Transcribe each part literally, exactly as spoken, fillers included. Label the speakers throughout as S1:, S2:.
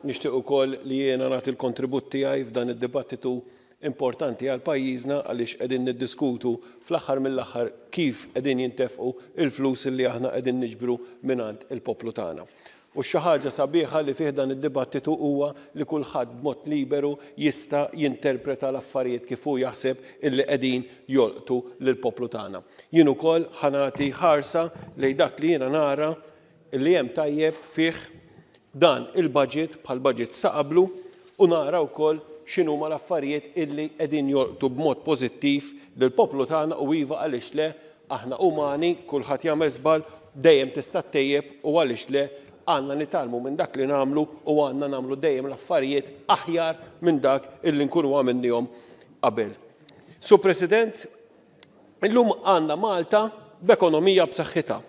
S1: Nixtieq ukoll li jiena nagħti l-kontribut tiegħi f'dan id-dibattitu importanti għal pajjiżna, għaliex qegħdin niddiskutu fl-aħħar mill-aħħar kif qegħdin jintefqu il-flus li aħna qegħdin niġbru mingħand il-poplu tagħna. U xi ħaġa sabiħa li fih dan id-dibattitu huwa li kulħadd b'mod liberu jista' jinterpreta l-affarijiet kif hu jaħseb illi qegħdin jolqtu lill-poplu tagħna. Jien ukoll ħa nagħti ħarsa lejn dak li jiena nara li hemm tajjeb fih dan il-budget bħal budget ta' qablu, u nara wkoll x'inhuma l-affarijiet illi qegħdin jolqtu b'mod pożittiv lill-poplu tagħna. U iva, għaliex le, aħna umani, kulħadd jagħmel żball, dejjem tista' ttejjeb, u għaliex le, għandna nitgħallmu minn dak li nagħmlu u għandna nagħmlu dejjem l-affarijiet aħjar minn dak illi nkunu għamilnihom qabel. Sur President, illum għandna Malta b'ekonomija b'saħħitha.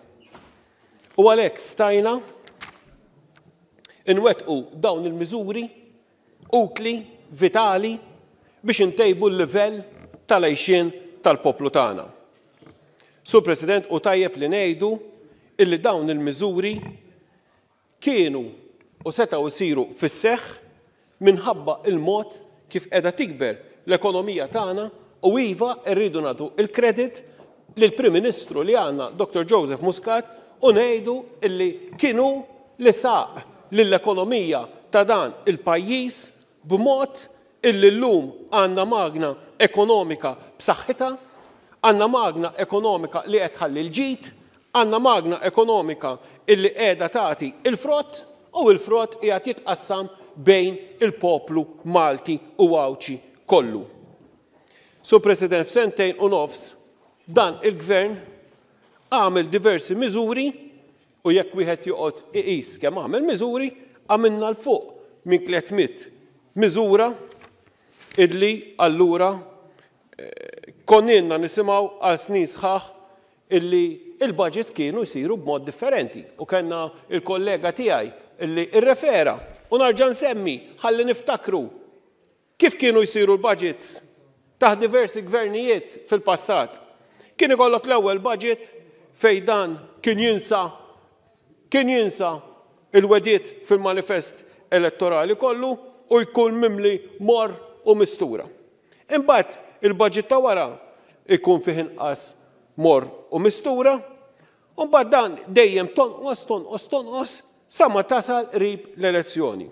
S1: U għalhekk stajna nwettqu dawn il-miżuri utli, vitali, biex intejbu l-livell tal-għajxien tal-poplu tagħna. Sur President, u tajjeb li ngħidu illi dawn il-miżuri kienu u setgħu jsiru fis-seħħ minħabba il-mod kif qiegħda tikber l-ekonomija tagħna, u iva rridu nagħtu il-kredit lill-Prim Ministru li għandna, Doktor Joseph Muscat, u ngħidu illi kienu li saq lill-ekonomija ta' dan il-pajjiż b'mod illi llum għandna magna ekonomika b'saħħitha, għandna magna ekonomika li qed tħalli l-ġid, għandna magna ekonomika illi qiegħda tagħti il-frott, u l-frott qiegħed jitqassam bejn il-poplu Malti u Għawdxi kollu. Sur President, f'sentejn u nofs dan il-gvern għamel diversi miżuri, u jekk wieħed joqgħod iqis kemm għamel miżuri, għamilna l fuq minn tliet mitt miżura illi allura konninna nisimgħu għal snin sħaħ illi il-budgets kienu jsiru b'mod differenti. U kellna il-kollega tiegħi illi irrefera, u narġa' nsemmi ħalli niftakru kif kienu jsiru l-budgets taħt diversi gvernijiet fil-passat. Kien ikollok l-ewwel budget fejn dan kien jinsa, kien jinsa il-wediet fil-manifest elettorali kollu u jkun mimli mor u mistura. Imbagħad il-budget ta' wara ikun fih inqas mor u mistura, u mbagħad dan dejjem tonqos, tonqos, tonqos sa ma tasal qrib l-elezzjoni.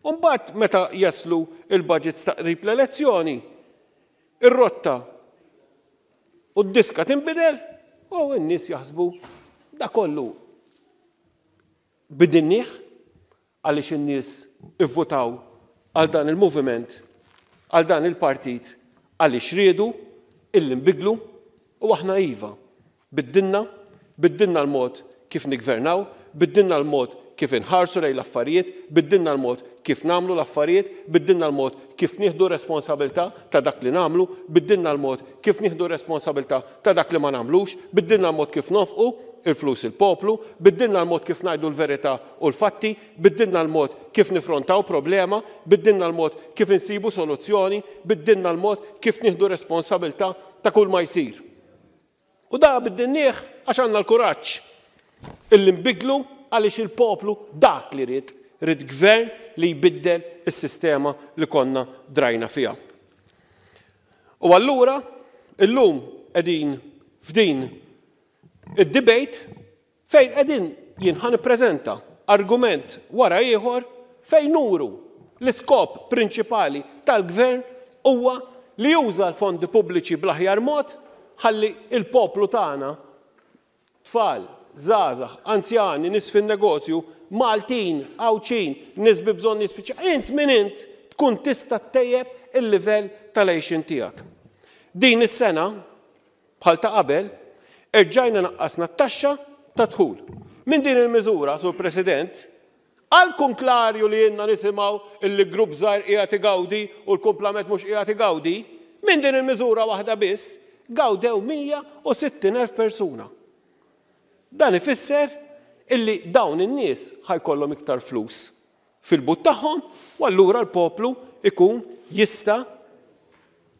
S1: U mbagħad meta jaslu il-budgets ta' qrib l-elezzjoni, ir-rotta u d-diska tinbidel u n-nies jaħsbu da kollu bidinnieh għaliex in-nies ivvutaw għal dan il-moviment, għal dan il-partit, għaliex riedu illi nbidlu, u aħna iva biddilna, biddilna l-mod kif nigvernaw, biddilna l-mod kif inħarsu lejn l-affarijiet, biddilna l-mod kif nagħmlu l-affarijiet, biddilna l-mod kif nieħdu responsabilità ta' dak li nagħmlu, biddilna l-mod kif nieħdu responsabilità ta' dak li ma nagħmlux, biddilna l-mod kif nonfqu il-flus il-poplu, biddilna l-mod kif ngħidu l-verità u l-fatti, biddilna l-mod kif nifrontaw problema, biddilna l-mod kif insibu soluzzjoni, biddilna l-mod kif nieħdu responsabilità ta' kull ma jsir. U da biddilnieh għax għandna l-kuraġġ illi nbidlu, għaliex il-poplu dak li ried, ried gvern li jbiddel is-sistema li konna drajna fiha. U allura illum qegħdin f'din id-debate fejn qegħdin jien ħa nippreżenta argument wara ieħor fejn nuru l-iskop prinċipali tal-gvern huwa li juża l-fondi pubbliċi bl-aħjar mod ħalli il-poplu tagħna, tfal, żgħażagħ, anzjani, nies fin-negozju, Maltin, Għawdxin, nies bi bżonn speċjali, int min int tkun tista' ttejjeb il-livell tal-għixien tiegħek. Din is-sena, bħal ta' qabel, erġajna naqqasna t-taxxa ta' dħul. Minn din il-miżura, Sur President, għal konklarju li jenna nisimgħu illi grupp żgħir qiegħed igawdi u l-kumplament mhux qiegħed igawdi, minn din il-miżura waħda biss gawdew mija u sittin elf persuna. Dan ifisser illi dawn in-nies ħajkollhom iktar flus fil-but tagħhom, u allura l-poplu ikun jista'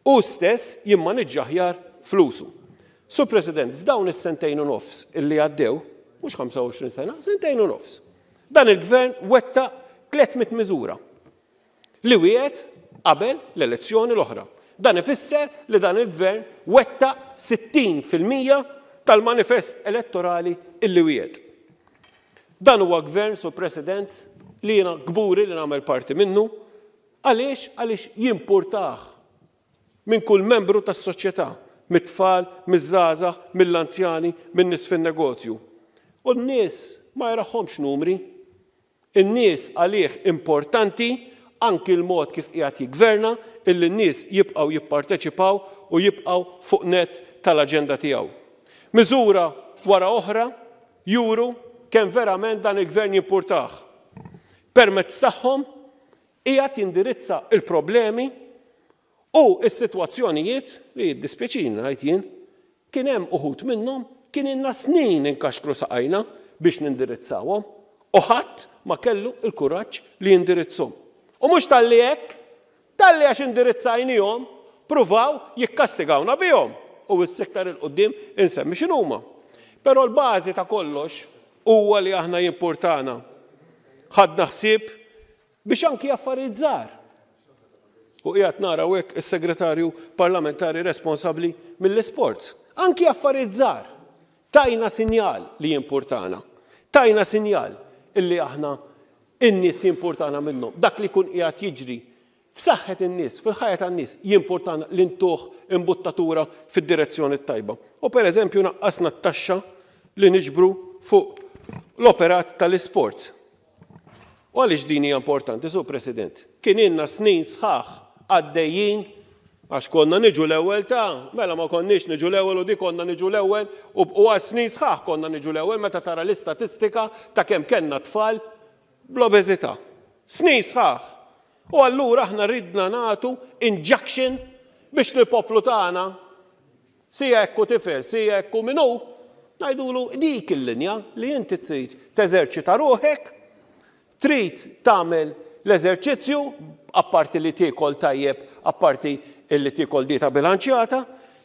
S1: hu stess jimmaniġġja aħjar flusu. Sur President, f'dawn is-sentejn u nofs illi għaddew, mhux ħamsa u għoxrin sena, sentejn u nofs, dan il-gvern wettaq tliet mitt miżura. li wiegħed qabel l-elezzjoni l-oħra. Dan ifisser li dan il-gvern wettaq sittin fil-mija tal-manifest elettorali illi wiegħed. Dan huwa gvern, Sur President, li jiena kburi li nagħmel parti minnu. Għaliex? Għaliex jimpurtah minn kull membru tas-soċjetà, mit-tfal, miż-żgħażagħ, mill-anzjani, min-nies fin-negozju. U n-nies ma jaraħhomx numri. In-nies għalih importanti anki l-mod kif qiegħed jiggverna, illi n-nies jibqgħu jipparteċipaw u jibqgħu fuq net tal-aġenda tiegħu. Miżura wara oħra juru kemm verament dan il-gvern jimpurtah. Permezz tagħhom qiegħed jindirizza il-problemi u s-sitwazzjonijiet li jiddispjaċina ngħid jien, kien hemm uħud minnhom kien ilna snin inkaxkru saqajna biex nindirizzawhom u ħadd ma kellu l-kuraġġ li jindirizzhom. U mhux talli hekk, talli għax indirizzajnihom, pruvaw jikkastigawna bihom u s-sektar il-qudiem insemmi x'inhuma. Però l-bażi ta' kollox huwa li aħna jimpurtana. Ħadna ħsieb biex anki affarijiet żgħar. U qiegħed nara hekk is-segretarju parlamentari responsabbli mill-isports. Anki affarijiet żgħar. Tajna sinjal li jimpurtana. Tajna sinjal illi aħna in-nies jimpurtana minnhom. Dak li jkun qiegħed jiġri f'saħħet in-nies, fil-ħajja tan-nies, jimpurtana li ntuh imbuttatura fid-direzzjoni tajba. U pereżempju naqqasna t-taxxa li niġbru fuq l-operat tal-isports. U għaliex din hija importanti, Sur President? Kien ilna snin sħaħ għaddejjin għax konna niġu l-ewwel ta' mela ma konniex niġu l-ewwel u di konna niġu l-ewwel u għal snin sħaħ konna niġu l-ewwel meta tara l-istatistika ta' kemm kellna tfal bl-obeżità. Snin sħaħ. U allura aħna ridna nagħtu injection biex lill-poplu tagħna, sija hekk hu tifel, sija hekk hu min hu, ngħidulu dik il-linja li inti trid teżerċita ruħek, trid tagħmel l-eżerċizzju, apparti li tiekol tajjeb, apparti li tiekol dieta bilanċjata,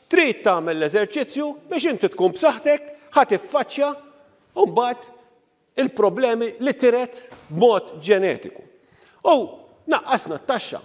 S1: trid tagħmel l-eżerċizzju biex inti tkun b'saħħtek, ħa tiffaċċja u mbagħad il-problemi li tiret b'mod ġenetiku. U naqqasna t-taxxa.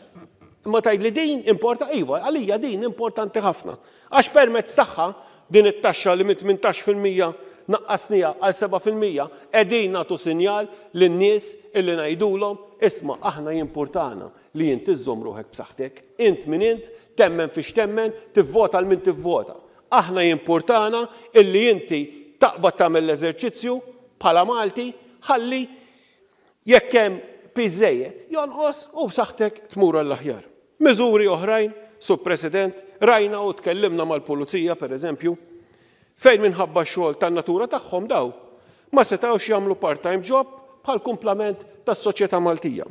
S1: Imma tgħid li din importa, iva, għalija din importanti ħafna. Għax permezz tagħha din it-taxxa li minn tmintax fil-mija naqqasnija għal seba' fil-mija, qegħdin nagħtu sinjal lin-nies illi ngħidulhom isma' aħna jimpurtana li inti żżomm ruħek b'saħħtek, int min int, temmen fiex temmen, tivvota għal min tivvota. Aħna jimpurtana illi inti taqbad tagħmel l-eżerċizzju bħala Malti, ħalli jekk hemm piż żejjed jonqos u b'saħħtek tmur għall-aħjar. Miżuri oħrajn, Sur President, rajna u tkellimna mal-pulizija, per eżempju, fejn minħabba x-xogħol tan-natura tagħhom daw ma setgħux jagħmlu part-time job bħal kumplament tas-soċjetà Maltija.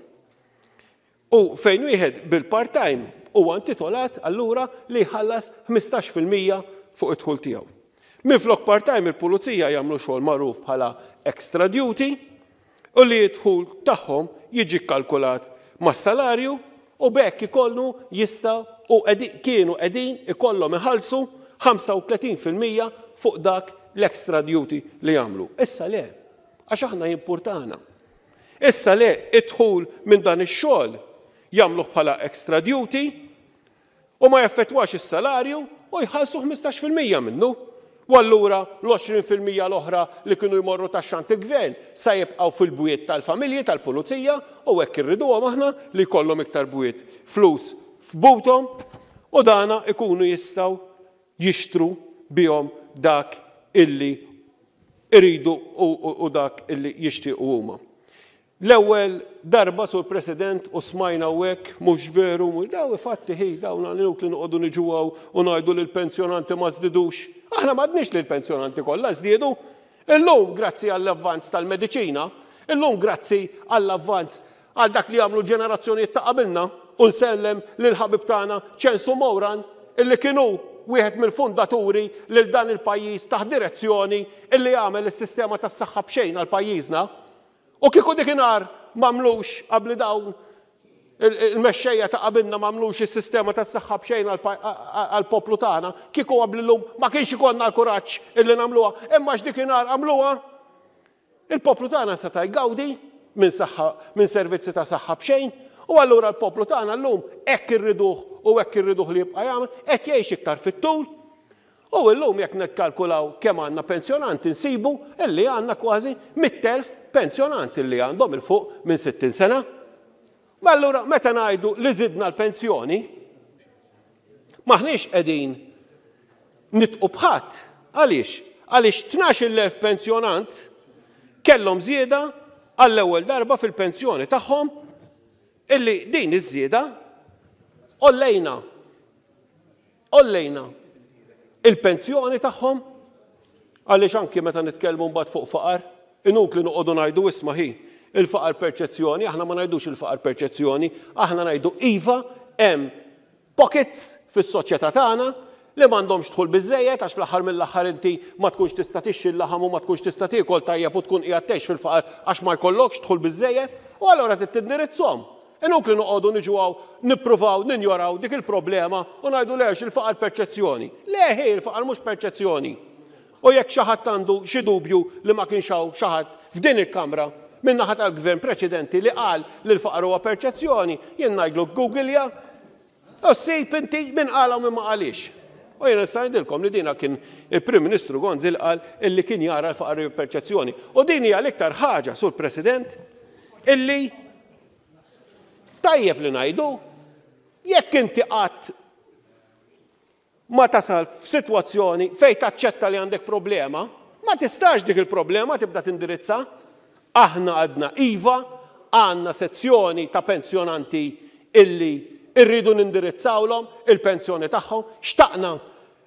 S1: U fejn wieħed bil-part-time huwa intitolat allura li jħallas ħmistax fil-mija fuq id-dħul tiegħu. Minflok part-time il-pulizija jagħmlu xogħol magħruf bħala extra duty u li d-dħul tagħhom jiġi kkalkulat mas-salarju u b'hekk ikollu jistgħu u kienu qegħdin ikollhom iħallsu ħamsa u tletin fil-mija fuq dak l-extra duty li jagħmlu. Issa le, għax aħna jimpurtana. Issa le, id-dħul minn dan ix-xogħol jagħmluh bħala extra duty u ma jaffettwax is-salarju u jħallsu ħmistax fil-mija minnu. U allura l-għoxrin fil-mija l-oħra li kienu jmorru taxxant il-gvern sa jibqgħu fil-bwiet tal-familji tal-pulizija u hekk irriduhom aħna li jkollhom iktar bwiet flus f'buthom u dana ikunu jistgħu jixtru bihom dak illi iridu u, u, u dak illi jixtiequ huma. L-ewwel darba, Sur President, u smajna u hekk, mhux veru, mhux daw fatti ħi, dawn inutli noqogħdu niġu hawn u ngħidu li l-pensjonanti ma żdidux. Aħna m'għadniex li l-pensjonanti kollha żdiedu. Illum grazzi għall-avvanz tal-mediċina, illum grazzi għall-avvanz għal dak li għamlu ġenerazzjonijiet ta' qabilna, u nsellem lil ħabib tagħna Ċensu Mowran, illi kienu wieħed mill-fundaturi lil dan il-pajjiż taħt direzzjoni illi għamel is-sistema tas-saħħa b'xejn għal pajjiżna. U kieku dikinhar m'għamlux qabli dawn il-mexxejja ta' qabilna m'għamlux is-sistema tas-saħħa b'xejn għall-poplu tagħna, kieku qabli llum ma kienx ikollna l-kuraġġ illi nagħmluha, imma x'dikinhar għamluha, il-poplu tagħna seta' jgawdi minn saħħa, minn servizzi ta' saħħa b'xejn, U allura l-poplu tagħna llum hekk irriduh u hekk irriduh li jibqa' jagħmel, qed jgħix iktar fit-tul. U llum jekk nikkalkulaw kemm għandna pensjonanti nsibu illi għandna kważi mitt elf pensjonanti li għandhom il fuq minn sittin sena. Ma allura meta ngħidu li żidna l-pensjoni, maħniex qegħdin nitqu bħadd. Għaliex? Għaliex tnax-il elf pensjonant kellhom żieda għall-ewwel darba fil-pensjoni tagħhom illi din iż-żieda ollejna ollejna il-pensjoni tagħhom. Għaliex anki meta nitkellmu mbagħad fuq faqar, inutli noqogħdu ngħidu isma' hi il-faqar perċezzjoni, aħna ma ngħidux il-faqar perċezzjoni, aħna ngħidu iva hemm pockets fis-soċjetà tagħna li m'għandhomx dħul biżejjed għax fl-aħħar mill-aħħar inti ma tkunx tista' tixxi l-laħam u ma tkunx tista' tiekol tajjeb u tkun qiegħed tgħix fil-faqar għax ma jkollokx dħul biżejjed, u allura trid tindirizzhom. Inutli noqogħdu niġu hawn nippruvaw ninjoraw dik il-problema u ngħidu lex il-faqar perċezzjoni. Le ħi, il-faqar mhux perċezzjoni. U jekk xi ħadd għandu xi dubju li ma kienx hawn xi ħadd f'din il-kamra min-naħa tal-gvern preċedenti li qal li l-faqar huwa perċezzjoni, jien ngħidlu Googlea u ssib inti min qala u min ma qalix. U jien nista' ngħidilkom li dina kien il-Prim Ministru Gonzi li qal illi kien jara l-faqar perċezzjoni. U din hija l-iktar ħaġa, Sur President, illi tajjeb li ngħidu, jekk inti qatt ma tasal f'sitwazzjoni fejn taċċetta li għandek problema, ma tistax dik il-problema tibda tindirizza. Aħna għadna iva, għandna sezzjoni ta' pensjonanti illi irridu nindirizzawlhom il-pensjoni tagħhom. Xtaqna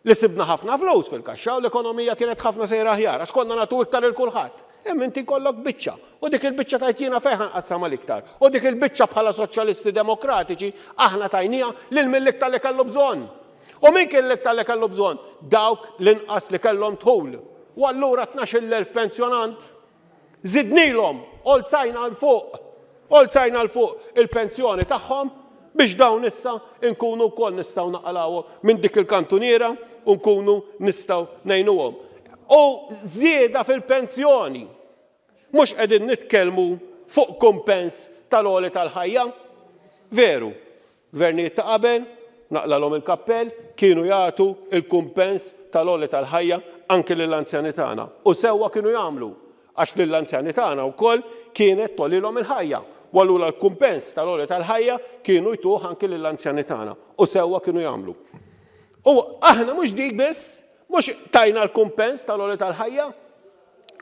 S1: li sibna ħafna flus fil-kaxxa u l-ekonomija kienet ħafna sejra aħjar għax konna nagħtu iktar il kulħadd. Hemm inti kollok biċċa u dik il-biċċa tajt jiena fejn ħanqassam l-iktar. U dik il-biċċa bħala soċjalisti demokratiċi aħna tajnija lil min l-iktar li kellu bżonn. U min kien l-iktar li kellu bżonn? Dawk l-inqas li kellhom dħul. U allura tnax-il elf pensjonant żidnilhom, olzajna l fuq, olzajna l fuq il-pensjoni tagħhom biex dawn issa nkunu wkoll nistgħu naqalgħuhom minn dik il-kantuniera u nkunu nistgħu ngħinuhom. U żieda fil-pensjoni. Mhux qegħdin nitkellmu fuq kumpens tal-għoli tal-ħajja. Veru, gvernijiet ta' qabel, naqlalhom il-kappell, kienu jagħtu il-kumpens tal-għoli tal-ħajja anke lill-anzjani tagħna. U sewwa kienu jagħmlu għax lill-anzjani tagħna wkoll kienet tolilhom il-ħajja. U allura l-kumpens tal-għoli tal-ħajja kienu jtuh anke lill-anzjani tagħna. U sewwa kienu jagħmlu. U aħna mhux dik biss, mhux tajna l-kumpens tal-għoli tal-ħajja.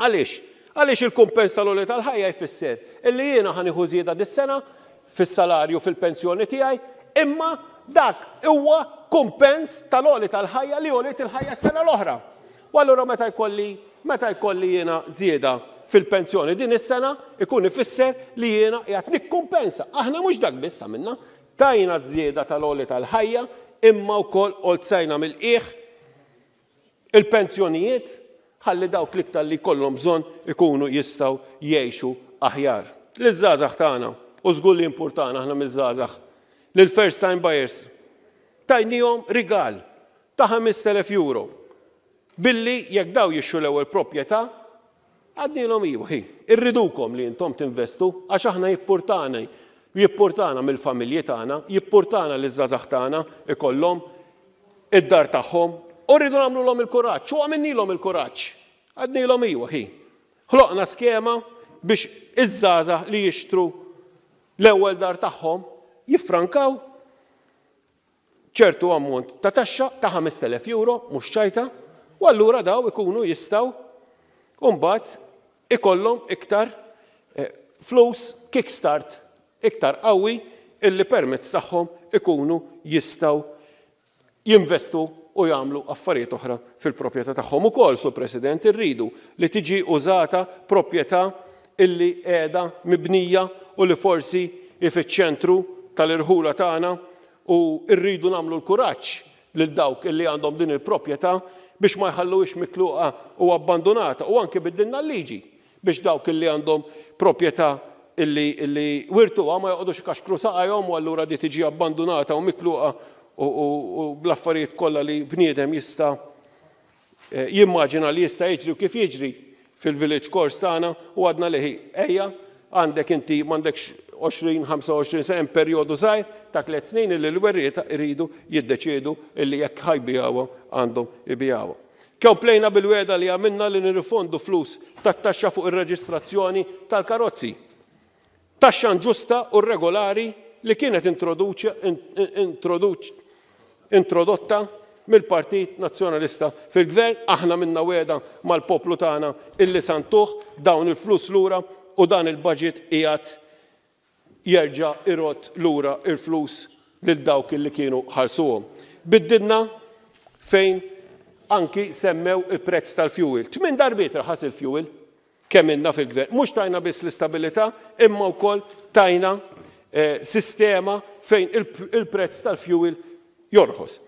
S1: Għaliex? Għaliex il-kumpens tal-għoli tal-ħajja jfisser illi jiena ħa nieħu żieda dis-sena fis-salarju fil-pensjoni tiegħi, imma dak huwa kumpens tal-għoli tal-ħajja li għoliet il-ħajja s-sena l-oħra. U allura meta jkolli, meta jkolli jiena żieda fil-pensjoni din is-sena ikun ifisser li jiena qiegħed nikkumpensa. Aħna mhux dak biss għamilna, tajna żieda tal-għoli tal-ħajja imma wkoll olzajna mill-qiegħ il-pensjonijiet ħalli dawk l-iktar li jkollhom bżonn ikunu jistgħu jgħixu aħjar. Liż-żgħażagħ tagħna, u żgur li importana aħna miż-żgħażagħ, lil first time buyers, tajnihom rigal ta' ħamest elef euro. Billi jekk daw jixxu l-ewwel proprjetà, għadnilhom iwa, hi, irridukom li intom tinvestu għax aħna jippurtana, jippurtana mill-familji tagħna, jippurtana li ż-żgħażagħ tagħna ikollhom id-dar tagħhom u rridu nagħmluhom il-kuraġġ, u għamilnilhom il-kuraġġ. Għadnilhom iwa, hi. Ħloqna skema biex iż-żgħażagħ li jixtru l-ewwel dar tagħhom jiffrankaw ċertu ammont ta' taxxa ta' ħamest elef euro, mhux ċajta, u allura daw ikunu jistgħu mbagħad ikollhom iktar, eh, flus kickstart iktar qawwi illi permezz tagħhom ikunu jistgħu jinvestu u jagħmlu affarijiet oħra fil-proprjetà tagħhom. Ukoll, Sur President, irridu li tiġi użata proprjetà illi qiegħda mibnija u li forsi hi fiċ-ċentru tal-irħula tagħna, u rridu nagħmlu l-kuraġġ lil dawk illi għandhom din il-proprjetà biex ma jħalluhiex mitluqa u abbandonata, u anke biddilna l-liġi biex dawk illi għandhom proprjetà illi, illi wirtuha ma joqogħdux ikaxkru saqajhom u allura di tiġi abbandonata u mitluqa u, u, u bl-affarijiet kollha li bniedem jista', eh, jimmaġina li jista' jiġri u kif jiġri fil-village course tagħna, u għadna li ejja għandek inti m'għandekx għoxrin, ħamsa u għoxrin sena, hemm perjodu żgħir ta' tliet snin illi l-werrieta jridu jiddeċiedu illi jekk ħa jbigħuha għandhom ibigħuha. Komplejna bil-wegħda li għamilna li nirrifondu flus tat-taxxa fuq ir-reġistrazzjoni tal-karozzi. Taxxa inġusta u regolari li kienet introdotta mill-Partit Nazzjonalista fil-Gvern. Aħna minna wegħda mal-poplu tagħna illi santuh dawn il-flus lura u dan il-budget qiegħed jerġa' irod lura il-flus lil dawk illi kienu ħalsuhom. Biddilna fejn anki semmew il-prezz tal-fuel. Tmien darbiet raħas il-fuel kemm ilna fil-gvern. Mhux tajna biss l-istabilità, imma wkoll tajna, eh, sistema fejn il-prezz tal-fuel jorħos.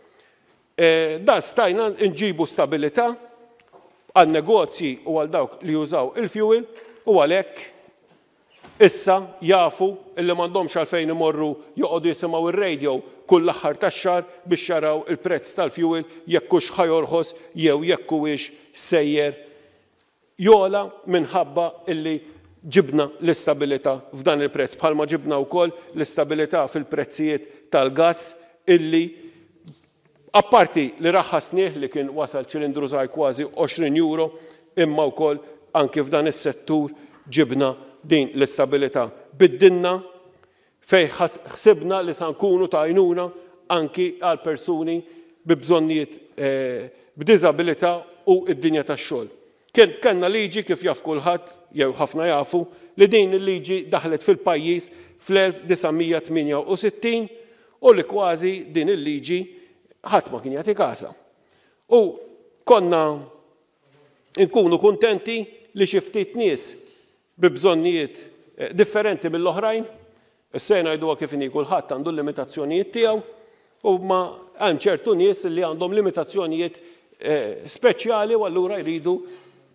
S1: Eh, dan stajna nġibu stabilità għal negozji u għal dawk li jużaw il-fuel u għalhekk issa jafu illi m'għandhomx għalfejn imorru joqogħdu jisimgħu ir-radio kull l-aħħar tax-xahar biex jaraw il-prezz tal-fuel jekk hux ħa jorħos jew jekk huwiex sejjer jola minħabba illi ġibna l-istabilità f'dan il-prezz, bħalma ġibna wkoll l-istabilità fil-prezzijiet tal-gass illi apparti li raħħasnieh li kien wasal ċilindru żgħir kważi għoxrin euro, imma wkoll anki f'dan is-settur ġibna din l-istabilità. Biddilna fej ħsibna li sa nkunu ta' għajnuna anki għal persuni bi bżonnijiet, eh, b'diżabilità u id-dinja tax-xogħol. Kien kellna liġi kif jaf kulħadd jew ħafna jafu li din il-liġi daħlet fil-pajjiż fl-elf disa' mija tmienja u sittin u li kważi din il-liġi ħadd ma kien jagħti kasha. U konna nkunu kuntenti li xi ftit nies bi bżonnijiet, eh, differenti mill-oħrajn, issa ngħiduha kif inhi, kulħadd għandu l-limitazzjonijiet tiegħu u ma hemm ċertu nies li għandhom limitazzjonijiet, eh, speċjali u allura jridu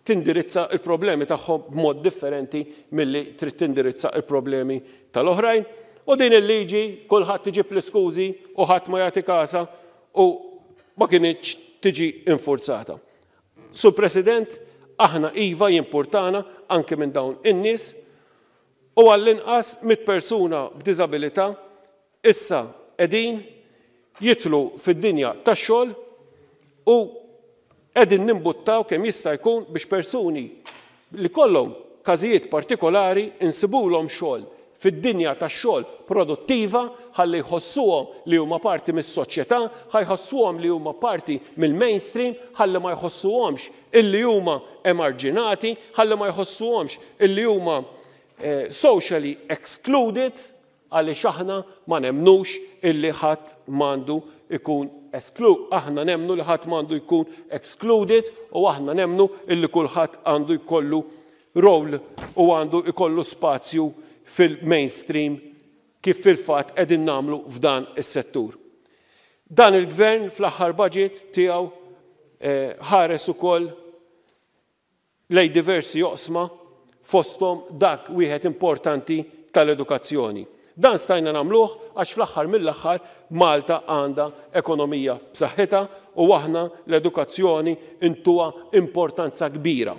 S1: tindirizza il-problemi tagħhom b'mod differenti milli trid tindirizza il-problemi tal-oħrajn. U din il-liġi kulħadd iġib l-iskużi u ħadd ma jagħti kasha u ma kinitx tiġi infurzata. Sur President, aħna iva jimpurtana anke minn dawn in-nies u għall-inqas mitt persuna b'diżabilità issa qegħdin jidħlu fid-dinja tax-xogħol u qegħdin nimbuttaw kemm jista' jkun biex persuni li kollhom każijiet partikolari insibulhom xogħol fid-dinja tax-xogħol produttiva ħalli jħossuhom li huma parti mis-soċjetà, ħa jħossuhom li huma parti mill-mainstream, ħalli ma jħossuhomx illi huma emarġinati, ħalli ma jħossuhomx illi huma, eh, socially excluded, għaliex aħna ma nemnux illi ħadd m'għandu ikun esklu-, aħna nemnu li ħadd m'għandu jkun excluded u aħna nemnu illi kulħadd għandu jkollu role u għandu jkollu spazju fil-mainstream kif fil-fatt qegħdin nagħmlu f'dan is-settur. Dan il-gvern fl-aħħar budget tiegħu, eh, ħares ukoll lej diversi oqsma fosthom dak wieħed importanti tal-edukazzjoni. Dan stajna nagħmluh għax fl-aħħar mill-aħħar Malta għandha ekonomija b'saħħitha u aħna l-edukazzjoni intuha importanza kbira.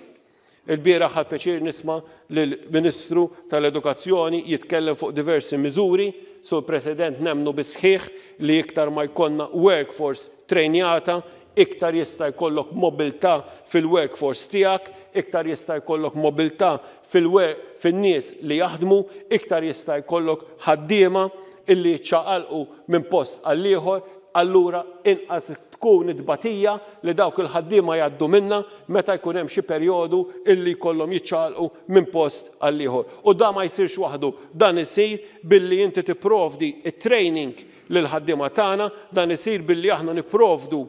S1: Il-bieraħ ħadt pjaċir nisma' lill-Ministru tal-Edukazzjoni jitkellem fuq diversi miżuri. Sur President, nemnu bisħiħ li iktar ma jkollna workforce trejnjata, iktar jista' jkollok mobilità fil-workforce tiegħek, iktar jista' jkollok mobilità fil-wer-, fin-nies li jaħdmu, iktar jista' jkollok ħaddiema illi jiċċaqalqu minn post għal ieħor, allura inqas tkun it-tbatija li dawk il-ħaddiema jgħaddu minna meta jkun hemm xi perjodu illi jkollhom jiċċaqalqu minn post għal ieħor. U dan ma jsirx waħdu, dan isir billi inti tipprovdi it-training lil ħaddiema tagħna, dan isir billi aħna nipprovdu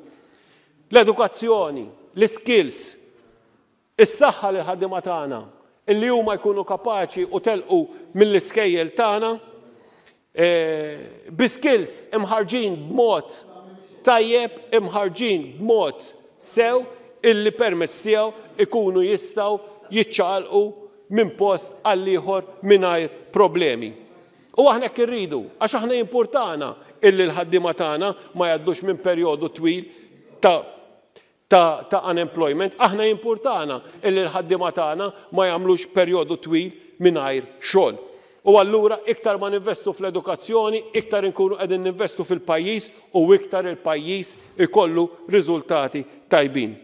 S1: l-edukazzjoni, l-skills, is-saħħa lil ħaddiema tagħna, illi huma jkunu kapaċi u telqu mill-iskejjel tagħna, eh, bi skills imħarġin b'mod tajjeb, imħarġin b'mod sew, illi permezz tiegħu ikunu jistgħu jiċċaqalqu minn post għal ieħor mingħajr problemi. U aħna hekk irridu, għax aħna jimpurtana illi l-ħaddiema tagħna ma jgħaddux minn perjodu twil ta', ta', ta' unemployment, aħna jimpurtana illi l-ħaddiema tagħna ma jagħmlux perjodu twil mingħajr xogħol. U allura iktar ma ninvestu fl-edukazzjoni, iktar inkunu qegħdin ninvestu fil-pajjiż u iktar il-pajjiż ikollu riżultati tajbin.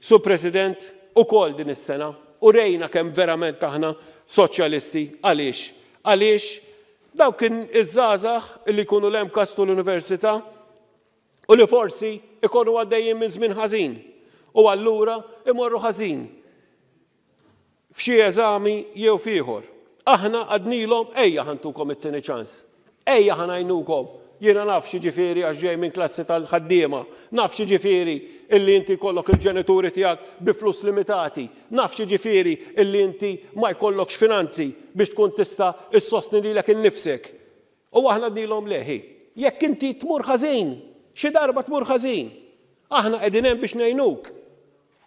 S1: Sur President, ukoll din is-sena u rejna kemm verament aħna soċjalisti. Għaliex? Għaliex dawk iż-żgħażagħ li jkunu l-MCAST u l-università u li forsi ikunu għaddejjin minn żmien ħażin u allura imorru ħażin f'xi eżami jew f'ieħor. Aħna għednielhom ejja ħa ntukom it-tieni ċans. Ejja ħa ngħinukom. Jiena naf x'jiġifieri għax ġej minn klassi tal-ħaddiema. Naf x'jiġifieri illi inti jkollok il-ġenituri tiegħek bi flus limitati. Naf x'jiġifieri illi inti ma jkollokx finanzi biex tkun tista' issostni lilek innifsek. U aħna għednielhom le ħi. Jekk inti tmur ħażin, xi darba tmur ħażin, aħna qegħdin hemm biex ngħinuk.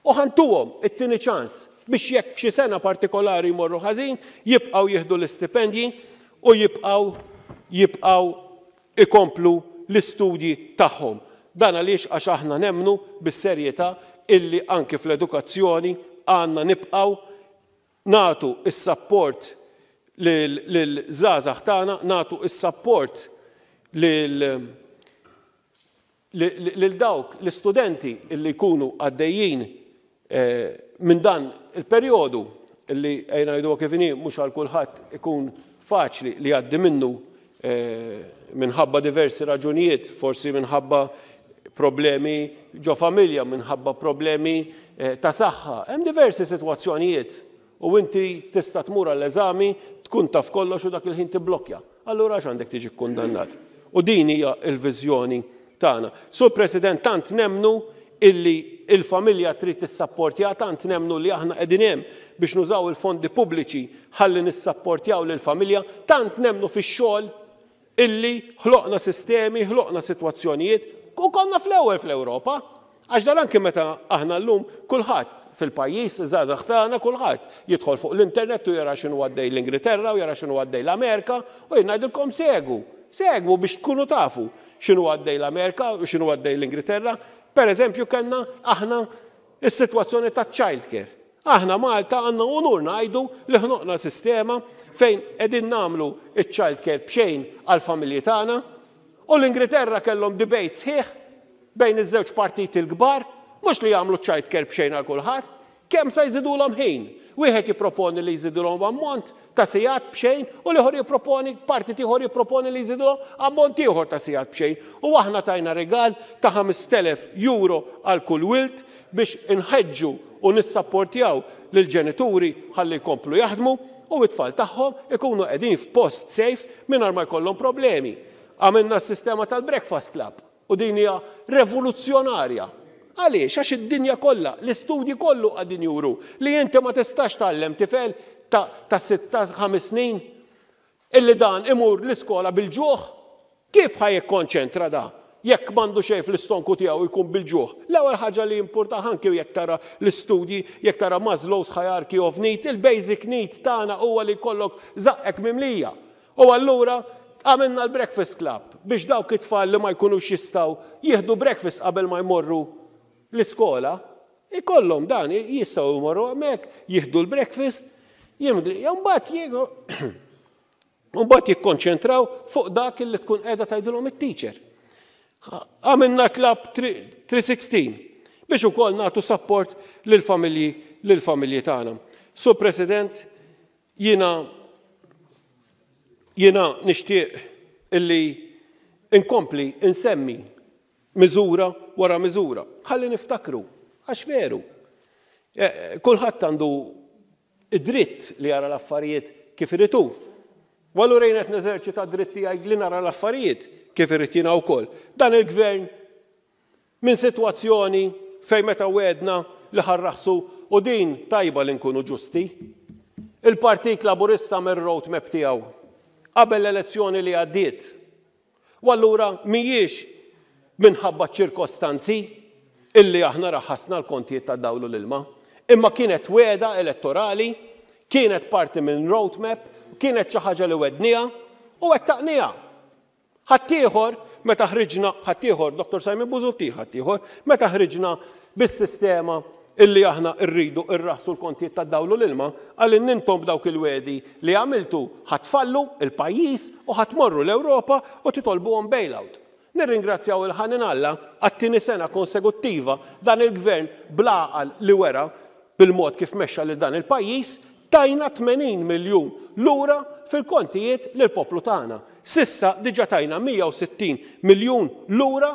S1: U ħa ntuhom it-tieni ċans biex jekk f'xi sena partikolari jmorru ħażin, jibqgħu jieħdu l-istipendji u jibqgħu jibqgħu ikomplu l-istudji tagħhom. Dan għaliex għax aħna nemmnu bis-serjetà illi anke fl-edukazzjoni għandna nibqgħu nagħtu is-sapport lil-żgħażagħ tagħna, nagħtu is-sapport lil lil dawk l-istudenti illi jkunu għaddejjin minn dan il-perjodu illi ejja ngħidu kif inhi mhux għal kulħadd ikun faċli li jgħaddi minnu minħabba diversi raġunijiet, forsi minħabba problemi ġo familja, minħabba problemi ta' saħħa. Hemm diversi sitwazzjonijiet u inti tista' tmur għall-eżami, tkun taf kollox u dak il-ħin tibblokja. Allura għax għandek tiġi kkundannat. U din hija l-viżjoni tagħna. Sur President, tant nemmnu illi il-familja trid tissapportja, tant nemmnu li aħna qegħdin hemm biex nużaw il-fondi pubbliċi ħalli nissapportjaw lill-familja, tant nemmnu fix-xogħol illi ħloqna sistemi, ħloqna sitwazzjonijiet u konna fl-ewwel fl-Ewropa. Għax dan anke meta aħna llum kulħadd fil-pajjiż, iż-żgħażagħ tagħna, kulħadd jidħol fuq l-internet u jara x'inhu għaddej l-Ingilterra u jara x'inhu għaddej l-Amerika u jien ngħidilkom segwu, segwu biex tkunu tafu x'inhu għaddej l-Amerika u x'inhu għaddej l-Ingilterra. Per eżempju kellna aħna is-sitwazzjoni ta' child care. Aħna Malta għandna unur ngħidu li ħloqna sistema fejn qegħdin nagħmlu iċ-child care b'xejn għall-familji tagħna u l-Ingilterra kellhom debate sħiħ bejn iż-żewġ partiti l-kbar, mhux li jagħmlu child care b'xejn għal kulħadd, kemm se jżidulhom ħin. Wieħed jipproponi li jżidulhom ammont ta' sigħat b'xejn u l-ieħor jipproponi, partit ieħor jipproponi li jżidulhom ammont ieħor ta' sigħat b'xejn. U aħna tajna rigal ta' ħamest elef euro għal kull wild biex inħeġġu u nissapportjaw lill-ġenituri ħalli jkomplu jaħdmu u t-tfal tagħhom ikunu qegħdin f'post safe mingħajr ma jkollhom problemi. Għamilna s-sistema tal-Breakfast Club u din hija revoluzzjonarja. Għaliex? Għax id-dinja kollha, l-istudji kollu qegħdin juru li inti ma tistax tgħallem tifel ta', ta' sitta ħames snin illi dan imur l-iskola bil-ġuħ. Kif ħa jikkonċentra da? Jekk m'għandu xejn fl-istonku tiegħu jkun bil-ġuħ. L-ewwel ħaġa li importa anke jekk tara l-istudji, jekk tara Maslow's hierarchy of need, il-basic need tagħna huwa li jkollok żaqqek mimlija. U allura għamilna l-Breakfast Club biex dawk it-tfal li ma jkunux jistgħu jieħdu breakfast qabel ma jmorru l-iskola, ikollhom dan, jistgħu jmorru hemmhekk, jieħdu l-breakfast, jimli, mbagħad jieħu mbagħad jikkonċentraw fuq dak li tkun qiegħda tgħidilhom it-teacher. Għamilna Club three sixteen biex ukoll nagħtu support lill-familji lill-familji tagħna. Sur President, jiena jiena nixtieq illi inkompli insemmi miżura wara miżura. Ħalli niftakru, għax veru. Kulħadd għandu id-dritt li jara l-affarijiet kif irid hu. U allura jien qed neżerċita d-dritt tiegħi li nara l-affarijiet kif irid jiena wkoll. Dan il-gvern minn sitwazzjoni fejn meta wedna li ħarraħsu u din tajba li nkunu ġusti. Il-Partit Laburista mir-roadmap tiegħu qabel l-elezzjoni li għaddiet. U allura mhijiex minħabba ċirkostanzi illi aħna raħasna l-kontijiet ta' dawl u l-ilma, imma kienet wegħda elettorali, kienet parti minn roadmap, kienet xi ħaġa li wedniha u wettaqniha. Ħaddieħor meta ħriġna, ħaddieħor Doktor Simon Busuttil ħaddieħor, meta ħriġna bis-sistema illi aħna rridu rraħsu l-kontijiet tad-dawl u l-ilma, qalilna intom b'dawk il-wegħdi li għamiltu ħa tfallu il-pajjiż u ħa tmorru l-Ewropa u titolbuhom bailout. Nirringrazzjaw il-ħanin Alla għat-tieni sena konsekuttiva dan il-gvern bl-għaqal li wera bil-mod kif mexxa lil dan il-pajjiż tajna tmenin miljun lura fil-kontijiet lill-poplu tagħna. S'issa diġà tajna mija u sittin miljun lura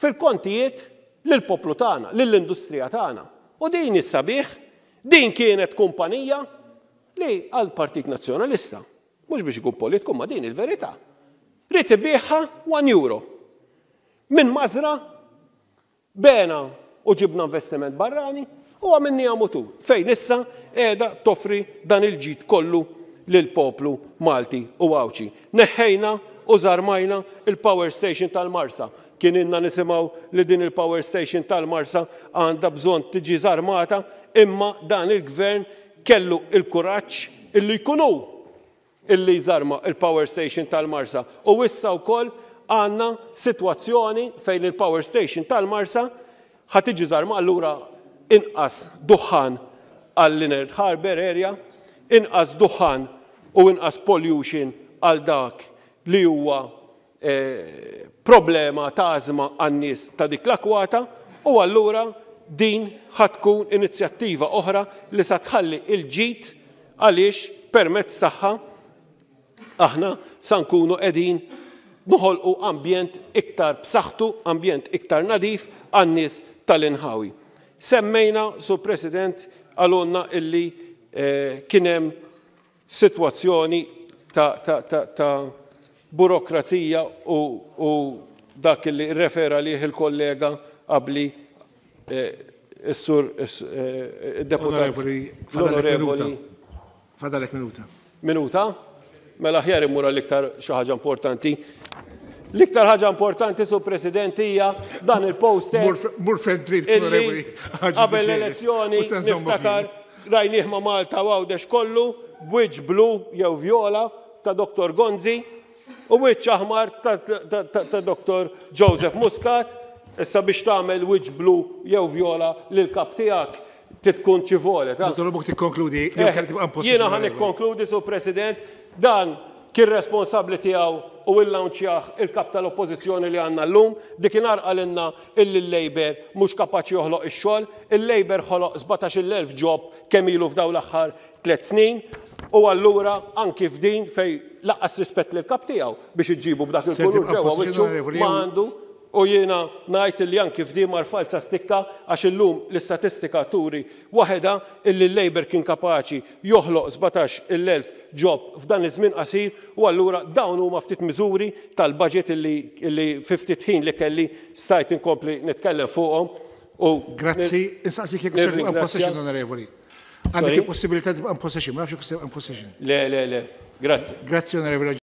S1: fil-kontijiet lill-poplu tagħna, lill-industrija tagħna. U din is-sabiħ, din kienet kumpanija li għall-Partit Nazzjonalista, mhux biex ikun politiku, ma din il-verità. Ried ibigħha one euro. Minn mażra bena u ġibna investiment barrani u għamilniha mutur, fejn issa qiegħda toffri dan il-ġid kollu lill-poplu Malti u Għawdxi. Neħħejna u żarmajna il-power station tal-Marsa. Kien ilna nisimgħu li din il-power station tal-Marsa għandha bżonn tiġi żarmata, imma dan il-gvern kellu il-kuraġġ illi jkun hu illi jżarma il-power station tal-Marsa. U issa wkoll għandna sitwazzjoni fejn il-power station tal-Marsa ħa tiġi żarma, allura inqas duħħan għall-Leonard Harbour area, inqas duħħan u inqas pollution għal dak li huwa, eh, problema ta' ażma għan-nies ta' dik l-akwata, u allura din ħa tkun inizjattiva oħra li sa tħalli il-ġid għaliex permezz tagħha aħna sa nkunu qegħdin noħolqu ambjent iktar b'saħħtu, ambjent iktar nadif għan-nies tal-inħawi. Semmejna, Sur President, għalunna illi, eh, kien hemm sitwazzjoni ta', ta, ta, ta' burokrazija u, u dak li refera liħ il-kollega qabli, eh, is-sur, is-, eh, il-deputat.
S2: Onorevoli, fadalek minuta.
S1: L-onorevoli.
S2: Fadalek minuta.
S1: Minuta? Mela aħjar immur għall-iktar xi ħaġa importanti. L-iktar ħaġa importanti, Sur President, hija dan il-poster
S2: Mur f-, mur fejn trid,
S1: illi
S2: onorevoli, ħaġa
S1: qabel
S2: tiġi.
S1: l-elezzjoni
S2: U se nżommu
S1: niftakar
S2: fih.
S1: rajnieh ma' Malta u Għawdex kollu b'wiċċ blu jew vjola ta' Doktor Gonzi u wiċċ aħmar ta', ta, ta, ta' Doktor Joseph Muscat. Issa biex tagħmel wiċċ blu jew vjola lil kap tiegħek titkun ċivole, ta'
S2: Dottor Buk tikkonkludi, jew
S1: Eh,
S2: kellek tibqa' impossibbli,
S1: Jiena ħa
S2: onorevoli.
S1: nikkonkludi, Sur President, dan kien responsabbli tiegħu u illaunċjah il-kap tal-oppożizzjoni li għandna llum, dikinhar qalilna illi l-Labour mhux kapaċi joħloq ix-xogħol, il-Labour ħoloq sbatax-il elf job kemm ilu f'dawn l-aħħar tliet snin, u allura anki f'din fej laqqas rispett lill-kap tiegħu biex iġibu b'dak
S2: Se
S1: il-kulur
S2: tibqa'
S1: ġewwa
S2: pożizzjoni
S1: wiċċu
S2: onorevoli,
S1: ma
S2: jew
S1: għandu. U jiena ngħid li anki f'din mar falsa stikka għax illum l-istatistika turi waħedha illi l-Labour kien kapaċi joħloq sbatax il elf job f'dan iż-żmien qasir, u allura dawn huma ftit miżuri tal-budget illi, illi fi ftit ħin li kelli stajt inkompli nitkellem fuqhom. U
S2: Grazzi, insaqsik jekk se tibqa'
S1: nirringrazzja.
S2: possession, onorevoli. Għandek
S1: Sorry?
S2: il-possibilità tibqa' possession, ma nafx jekk se tibqa' possession.
S1: Le, le, le. Grazzi.
S2: Grazzi, onorevoli.